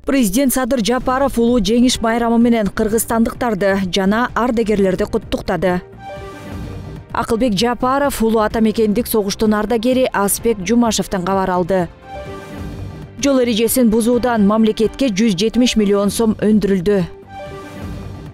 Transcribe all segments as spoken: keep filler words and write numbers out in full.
Президент Садыр Жапаров улуу жеңиш байрамы менен кыргызстандыктарды жана ардагерлерди куттуктады. Акылбек Жапаров улуу ата мекендик согуштун ардагери Азбек Жумашевден кабар алды. Жол эрежесин бузуудан мамлекетке жүз жетимиш миллион сом өндүрүлдү.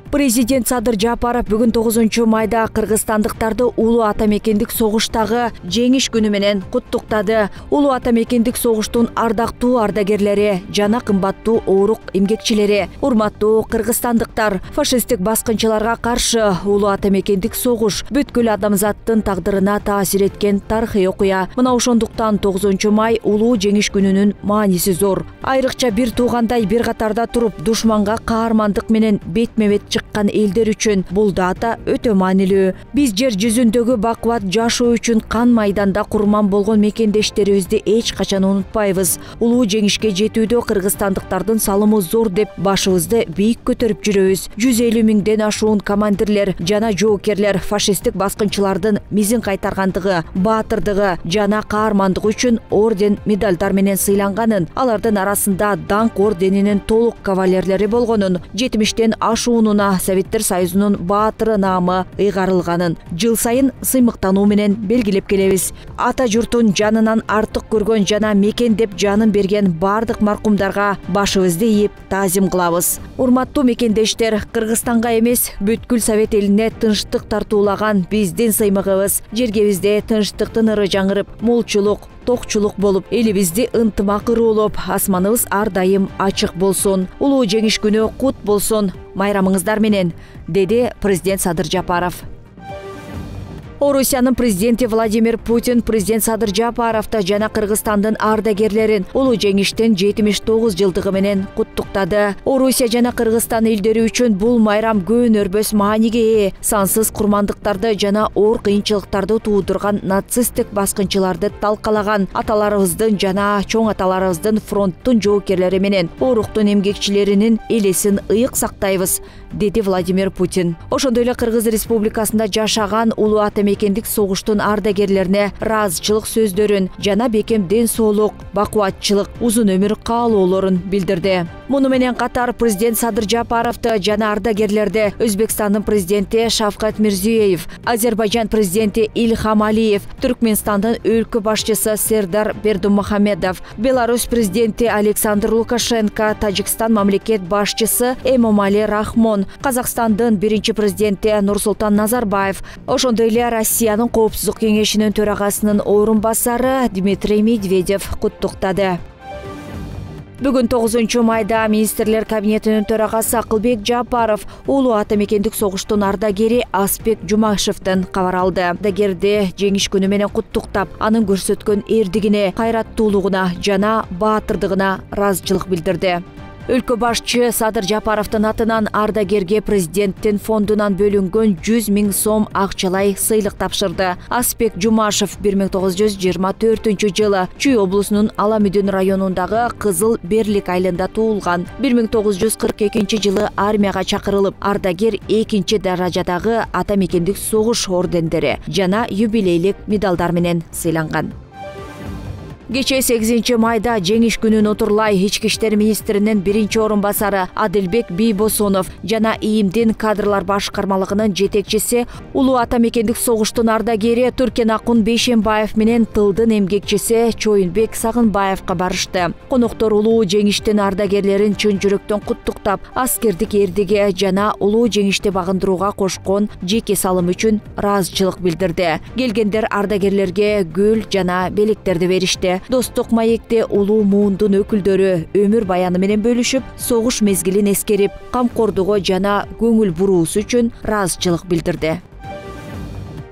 Президент Садыр Жапаров бүгүн тогузунчу майда кыргызстандыктарды улуу ата мекендик согуштагы жеңиш күнү менен куттуктады. Улуу ата мекендик согуштун ардактуу ардагерлери жана кымбаттуу оорук эмгекчилери, урматтуу кыргызстандыктар, фашисттик баскынчыларга каршы улуу ата мекендик согуш бүткүл адамзаттын тагдырына таасир эткен тарыхый окуя. Мына ошондуктан тогузунчу май улуу жеңиш күнүнүн мааниси зор. Айрыкча бир туугандай бир катарда туруп душманга каармандык менен бетме-бет чыккан элдер үчүн бул дата өтө маанилүү. Биз жер жүзүндөгү бакубат жашоо үчүн кан майданда курман болгон мекендештерибизди эч качан унутпайбыз. Улуу жеңишке жетүүдө кыргызстандыктардын салымы зор деп башыбызды бийик көтөрүп жүрөбүз. жүз элүү миңден ашуун командирлер жана жоокерлер фашисттик баскынчылардын мизин кайтаргандыгы, баатырдыгы жана каармандыгы үчүн орден, медальдар менен сыйланганын, алардын арасында даңк орденинин толук кавалерлери болгонун, жетимиштен ашуунуна Советтер Союзунун баатыры наамы ыйгарылганын жыл сайын сыймыктануу менен белгилеп келебиз. Ата журтун жанынан артык көргөн жана мекен деп жанын берген бардык маркумдарга башыбызды ийип таазим кылабыз. Урматтуу мекендештер, Кыргызстанга эмес, бүткүл Совет элине тынчтык тартуулаган биздин сыймыгыбыз жергебизде тынчтыктын ыры жаңырып, молчулук, токчулук болуп, элибизди ынтымак ыруулап, асманыбыз ар дайым ачык болсун. Улуу жеңиш күнү кут болсун. Майрамыңыздар менен, деди президент Садыр Жапаров. Орусиянын президенти Владимир Путин президент Садыр Жапаровду жана Кыргызстандын ардагерлерин улуу жеңиштин жетимиш тогуз жылдыгы менен куттуктады. Орусия жана Кыргызстан элдери үчүн бул майрам көөнөрбөс мааниге ээ. Сансыз курмандыктарды жана оор кыйынчылыктарды туудурган нацисттик баскынчыларды талкалаган аталарыбыздын жана чоң аталарыбыздын фронттун жоокерлери менен ооруктун эмгекчилеринин элесин ыйык сактайбыз, деди Владимир Путин. Ошондой эле Кыргыз Республикасында жашаган улуу ата мекендик согуштун ардагерлерине ыраазычылык сөздөрүн жана бекем ден соолук, бакубатчылык, узун өмүр каалоолорун билдирди. Муну менен катар президент Садыр Жапаровду жана ардагерлерди Өзбекстандын президенти Шавкат Мирзиёев, Азербайжан президенти Ильхам Алиев, Түркмөнстандын өлкө башчысы Сердар Бердымухамедов, Беларусь президенти Александр Лукашенко, Тажикстан мамлекет башчысы Эмомали Рахмон, Казакстандын биринчи президенти Нурсултан Назарбаев, ошондой эле Россиянын коопсуздук кеңешинин төрагасынын орун басары Дмитрий Медведев куттуктады. Бүгүн тогузунчу майда министрлер кабинетинин төрагасы Акылбек Жапаров улуу ата мекендик согуштун ардагери Азбек Жумашевден кабар алды. Ардагерди жеңиш күнү менен куттуктап, анын көрсөткөн эрдигине, кайраттуулугуна жана баатырдыгына ыраазычылык билдирди. Өлкө башчы Садыр Жапаровдун атынан ардагерге президенттин фондунан бөлүнгөн жүз миң сом акчалай сыйлык тапшырды. Азбек Жумашев бир миң тогуз жүз жыйырма төртүнчү жылы Чүй облусунун Ала Мүдүн районундагы Кызыл Берлик айылында туулган. бир миң тогуз жүз кырк экинчи жылы армияга чакырылып, ардагер экинчи даражадагы ата мекендик согуш ордендери жана юбилейлик медалдар менен сыйланган. Кечээ сегизинчи майда жеңиш күнүн отурлай ички иштер министринин биринчи орун басары Адилбек Бийбосонов жана ИИМдин кадрлар башкармалыгынын жетекчиси улуу ата мекендик согуштун ардагери Туркенакун Бейшембаев менен тылдын эмгекчиси Чоюнбек Сагынбаевка барышты. Коноктор улуу жеңиштин ардагерлерин чын жүрөктөн куттуктап, аскердик эрдиги жана улуу жеңишти багындырууга кошкон жеке салым үчүн ыраазычылык билдирди. Келгендер ардагерлерге гүл жана белектерди беришти. Достук маекте улуу муундун өкүлдөрү өмүр баяны менен бөлүшүп, согуш мезгилин эскерип, камкордугу жана көңүл буруусу үчүн ыраазычылык билдирди.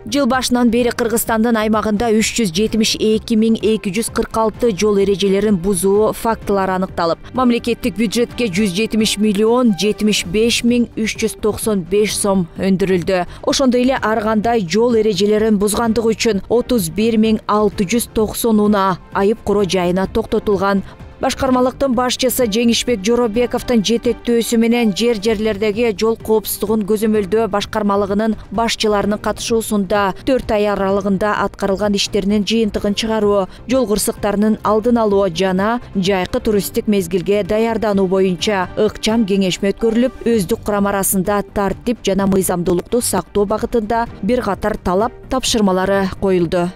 Жыл башынан бери Кыргызстандын аймагында үч жүз жетимиш эки миң эки жүз кырк алты жол эрежелерин бузуу фактылары аныкталып, мамлекеттик бюджетке жүз жетимиш миллион жетимиш беш миң үч жүз токсон беш сом өндүрүлдү. Ошондой эле ар кандай жол эрежелерин бузгандыгы үчүн отуз бир миң алты жүз токсон унаа айып куроо жайына токтотулган. Башкармалыктын башчысы Жеңишбек Жоробековдун жетектөөсү менен жер жерлердеги жол коопсуздугун көзөмөлдөө башкармалыгынын башчыларынын катышуусунда төрт ай аралыгында аткарылган иштеринин жыйынтыгын чыгаруу, жол кырсыктарынын алдын алуу жана жайкы туристтик мезгилге даярдануу боюнча ыкчам кеңешме өткөрүлүп, өздүк курам арасында тартип жана мыйзамдуулукту сактоо багытында бир катар талап тапшырмалары коюлду.